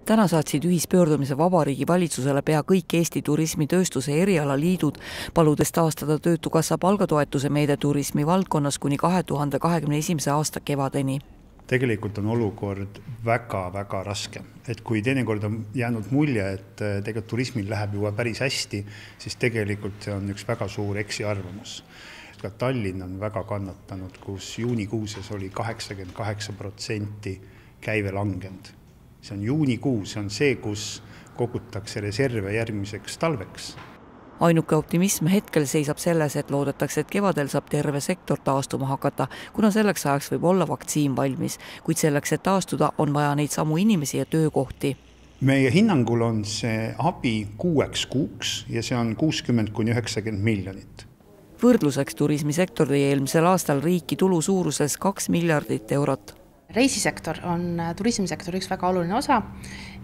Täna saatsid ühispöördumise Vabariigi valitsusele pea kõik Eesti turismitööstuse erialaliidud, paludes taastada Töötukassa palgatoetuse meede turismi valdkonnas kuni 2021. aasta kevadeni. Tegelikult on olukord väga raske. Et kui teinekord on jäänud mulje, et tegelikult turismil läheb juba päris hästi, siis tegelikult see on üks väga suur eksiarvamus. Ka Tallinn on väga kannatanud, kus juunikuuses oli 88% käive langenud. See on juunikuu, see on see, kus kogutakse reserve järgmiseks talveks. Ainuke optimism hetkel seisab selles, et loodetakse, et kevadel saab terve sektor taastuma hakata, kuna selleks ajaks võib olla vaktsiin valmis, kuid selleks, et taastuda, on vaja neid samu inimesi ja töökohti. Meie hinnangul on see abi 6 kuuks ja see on 60–90 miljonit. Võrdluseks turismisektor tõi eelmisel aastal riiki tulu suuruses 2 miljardit eurot. Reisisektor on turismisektori üks väga oluline osa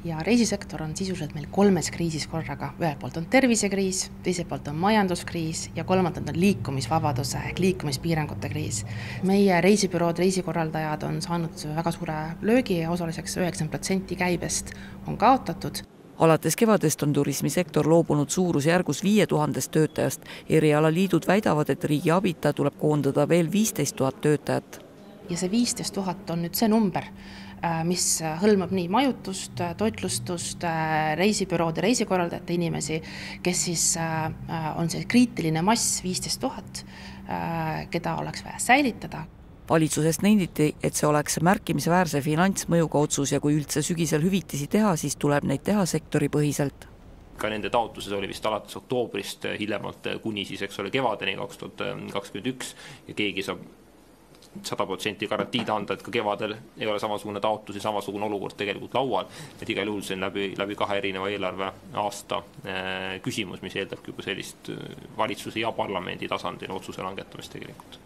ja reisisektor on sisuliselt meil 3 kriisis korraga. Ühelt poolt on tervisekriis, teiselt poolt on majanduskriis ja kolmandalt on liikumisvabaduse ehk liikumispiirangute kriis. Meie reisibürood, reisikorraldajad on saanud väga suure löögi ja osaliseks 90% käibest on kaotatud. Alates kevadest on turismisektor loobunud suurusjärgus 5000 töötajast. Erialaliidud väidavad, et riigi abita tuleb koondada veel 15 000 töötajat. Ja see 15 000 on nüüd see number, mis hõlmab nii majutust, toitlustust, reisibüroode, reisikorraldajate inimesi, kes siis on see kriitiline mass 15 000, keda oleks vaja säilitada. Valitsusest nenditi, et see oleks märkimisväärse finantsmõjuga otsus ja kui üldse sügisel hüvitisi teha, siis tuleb neid teha sektoripõhiselt. Ka nende taotluses oli vist alates oktoobrist hiljemalt kuni siis, eks ole, kevadeni 2021 ja keegi saab 100% garantiid anda, et ka kevadel ei ole samasugune taotlus ja samasugune olukord tegelikult laual. Et igal juhul see on läbi 2 erineva eelarve aasta küsimus, mis eeldab juba sellist valitsuse ja parlamendi tasandil otsuse langetamist tegelikult.